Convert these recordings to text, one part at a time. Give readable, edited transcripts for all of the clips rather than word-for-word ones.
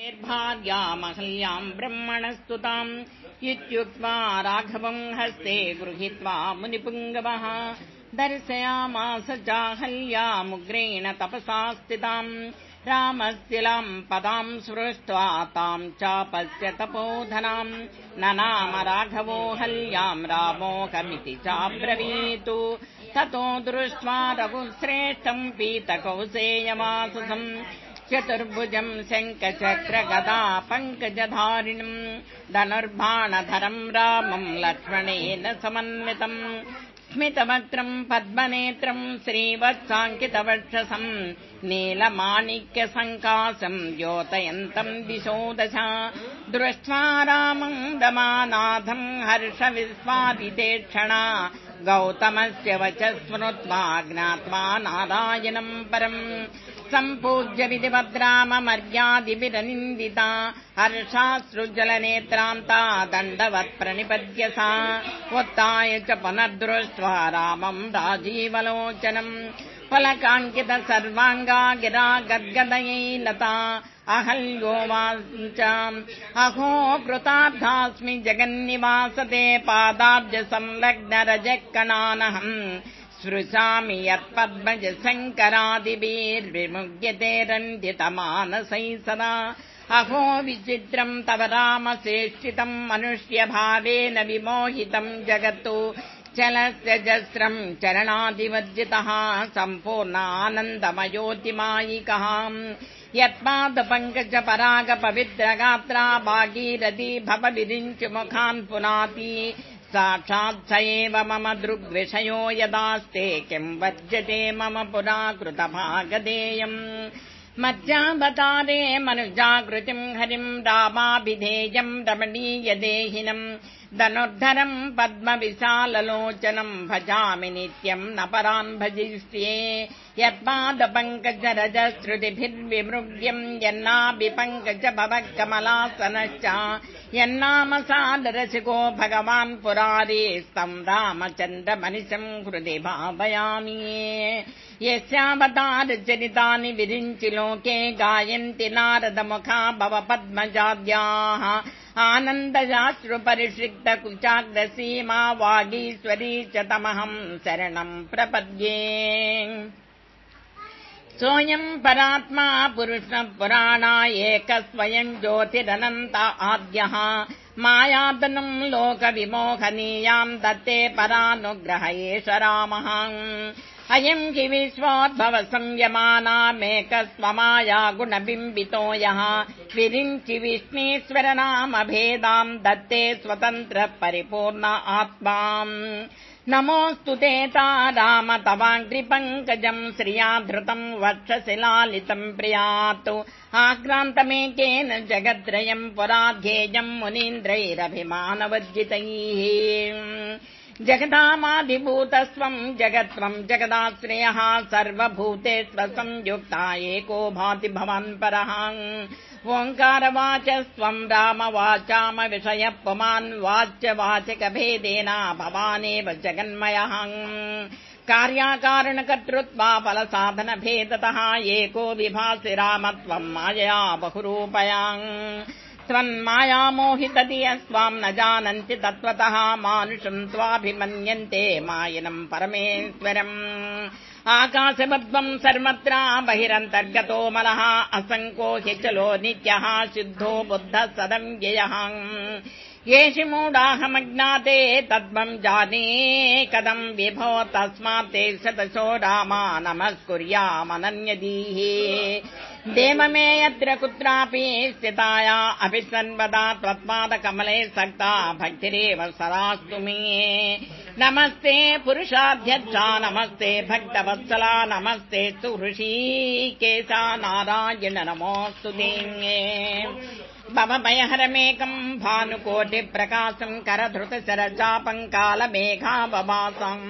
भार्यामहल्याम् ब्रह्मणस्तुताम् इत्युक्त्वा राघवम् हस्ते गृहीत्वा मुनिपुङ्गवः दर्शयामास चाहल्यामुग्रेण तपसा स्थिताम् रामस्तिलाम् पदाम् सृष्ट्वा ताम् चापस्य तपोधनाम् ननाम राघवो हल्याम् रामोऽहमिति चाब्रवीतु ततो दृष्ट्वा रघुश्रेष्ठम् पीतकौसेयवाससम् चतुर्भुजम् शङ्खचक्रगदा पङ्कजधारिणम् धनुर्बाणधरम् रामम् लक्ष्मणेन समन्वितम् स्मितवक्त्रम् पद्मनेत्रम् श्रीवत्साङ्कितवक्षसम् नीलमाणिक्यसङ्कासम् द्योतयन्तम् दिशो दश दृष्ट्वा रामम् दमानाथम् हर्षविस्वादितेक्षणा गौतमस्य वचः स्मृत्वा ज्ञात्वा नारायणम् परम् सम्पूज्य विधिवद्राममर्यादिभिरनिन्दिता हर्षाश्रुजलनेत्रान्ता दण्डवत् प्रणिपद्य सा उत्थाय च पुनर्दृष्ट्वा रामम् राजीवलोचनम् फलकाङ्कित सर्वाङ्गा गिरा गद्गदयै लता अहल्योवाच अहो कृतार्थास्मि जगन्निवासते पादाब्ज संलग्न रजकणानहम् स्पृशामि यत्पद्मज शङ्करादिभिर्विमुह्यते रन्धितमानसै सदा अहो विचित्रम् तव रामचेष्टितम् मनुष्यभावेन विमोहितम् जगत्तु चलस्य जस्रम् चरणादिवर्जितः सम्पूर्णानन्दमयोतिमायिकः यत्पादपङ्कज पराग पवित्रगात्रा भागीरथी भवविरिञ्चमुखान् पुनाति साक्षात् स एव मम दृग्विषयो यदास्ते किम् वर्जते मम पुरा कृतभागधेयम् मज्जावतारे मनुजाकृतिम् हरिम् रामाभिधेयम् रमणीयदेहिनम् धनुर्धरम् पद्मविशाललोचनम् भजामि नित्यम् न परान् भजिष्ये यत्पादपङ्कजरजश्रुतिभिर्विमृग्यम् यन्नाभिपङ्कज भवकमलासनश्च यन्नाम सादरसिको भगवान् पुरारेस्तम् रामचन्द्रमनिशम् हृदि भावयामि यस्यावतारचरितानि विरिञ्चि लोके गायन्ति नारदमुखा भव पद्मजाद्याः आनन्दजाश्रुपरिषिक्त कुचाग्रसीमा वागीश्वरी च तमहम् शरणम् प्रपद्ये सोऽयम् परात्मा पुरुषः पुराणा एकस्वयम् ज्योतिरनन्त आद्यः मायातनुम् लोकविमोहनीयाम् दत्ते परानुग्रह एष रामः अयम् हि विश्वोद्भव संयमानामेकस्वमाया गुणबिम्बितो यः विरिञ्चि विष्णीश्वर नाम भेदाम् दत्ते स्वतन्त्र परिपूर्ण आत्मा नमोऽस्तु ते राम तवाङ्घ्रिपङ्कजम् श्रिया धृतम् वक्षशिलालितम् प्रियातु आक्रान्तमेकेन जगद्त्रयम् पुराध्येयम् मुनीन्द्रैरभिमानवर्जितैः जगदामादिभूतस्त्वम् जगत्त्वम् जगदाश्रयः सर्वभूतेष्वसंयुक्ता एको भाति भवान् परः ओङ्कारवाचस्त्वम् रामवाचाम विषयः पुमान् वाच्यवाचकभेदेन भवानेव जगन्मयः कार्याकारणकर्तृत्वा फलसाधनभेदतः एको विभासि रामत्वम् मायया बहुरूपयाम् त्वन्मायामोहितधियस्त्वाम् न जानन्ति तत्त्वतः मानुषम् त्वाभिमन्यन्ते मायिनम् परमेश्वरम् आकाशवद्वम् सर्वत्र बहिरन्तर्गतो मलः असङ्को ह्यचलो नित्यः शुद्धो बुद्धः सदव्ययः येषु मूढाहमज्ञाते तद्वम् जाने कदम् विभो तस्मात् ते शतशो रामा नमस्कुर्यामनन्यदीः देवमे यत्र कुत्रापि स्थिताया अपि सर्वदा त्वत्पादकमले सक्ता भक्तिरेव सदास्तु मे नमस्ते पुरुषाध्यक्षा नमस्ते भक्तवत्सला नमस्ते ऋषिकेशा नारायण नमोऽस्तु ते भवभयहरमेकम् भानुकोटिप्रकाशम् करधृतशरचापङ्कालमेघावभासम्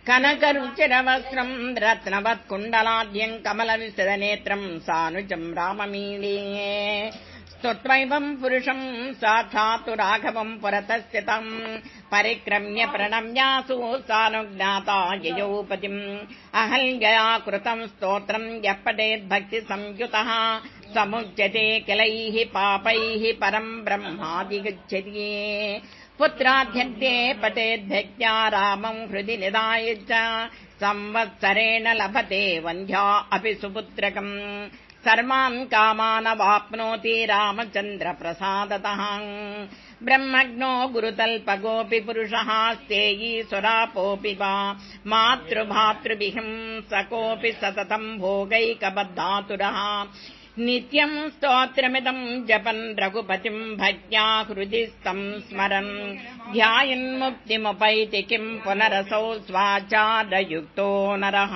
कनकरुचिरवस्त्रम् रत्नवत्कुण्डलाद्यम् कमलविशदनेत्रम् सानुजम् राममीले स्तुत्वैवम् पुरुषम् साक्षात् राघवम् पुरतस्थितम् परिक्रम्य प्रणम्यासु सानुज्ञाता ययोपतिम् अहल्यया कृतम् स्तोत्रम् यः पठेद्भक्ति संयुतः समुच्यते किलैः पापैः परम् ब्रह्मादिगच्छति पुत्राध्यन्ते पतेद्भक्त्या रामम् हृदि निधाय च संवत्सरेण लभते वन्ध्या अपि सुपुत्रकम् सर्वान् कामानवाप्नोति रामचन्द्र प्रसादतः ब्रह्मज्ञो गुरुतल्पगोऽपि पुरुषः स्तेयी सुरापोऽपि वा मातृभातृभिहिंसकोऽपि सततम् भोगैकबद्धातुरः नित्यम् स्तोत्रमिदम् जपन् रघुपतिम् भक्त्या हृदि स्तम् स्मरन् ध्यायन्मुक्तिमुपैति किम् पुनरसौ स्वाचारयुक्तो नरः।